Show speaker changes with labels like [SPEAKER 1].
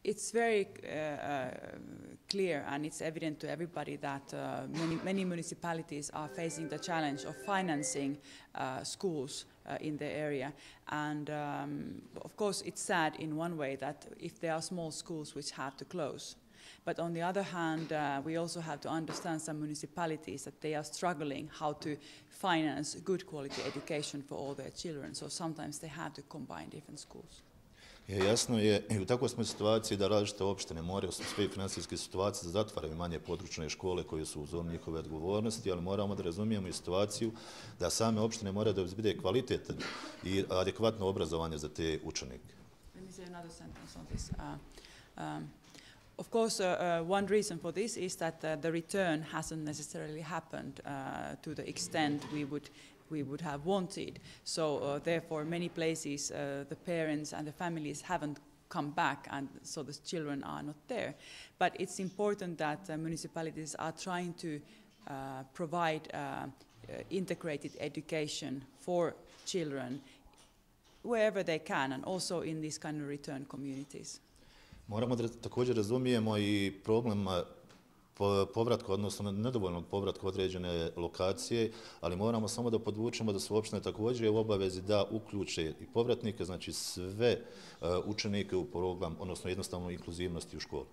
[SPEAKER 1] It's very clear and it's evident to everybody that many municipalities are facing the challenge of financing schools in the area. And of course it's sad in one way that if there are small schools which have to close. But on the other hand, we also have to understand some municipalities that they are struggling how to finance good quality education for all their children. So sometimes they have to combine different schools.
[SPEAKER 2] Jasno je i u takvoj smo situaciji da različite opštine moraju u svojoj financijskoj situaciji zatvaraju manje područne škole koje su u zoni njihove odgovornosti, ali moramo da razumijemo i situaciju da same opštine moraju da obezbede kvalitetan i adekvatno obrazovanje za te učenike.
[SPEAKER 1] Let me say another sentence on this. Of course, one reason for this is that the return hasn't necessarily happened to the extent we would have wanted. So therefore, many places, the parents and the families haven't come back, and so the children are not there. But it's important that municipalities are trying to provide integrated education for children wherever they can, and also in these kind of return communities.
[SPEAKER 2] Moramo da također razumijemo i problem povratka, odnosno nedovoljnog povratka određene lokacije, ali moramo samo da podvučemo da su opštine također u obavezi da uključe i povratnike, znači sve učenike u program, odnosno jednostavno inkluzivnosti u školu.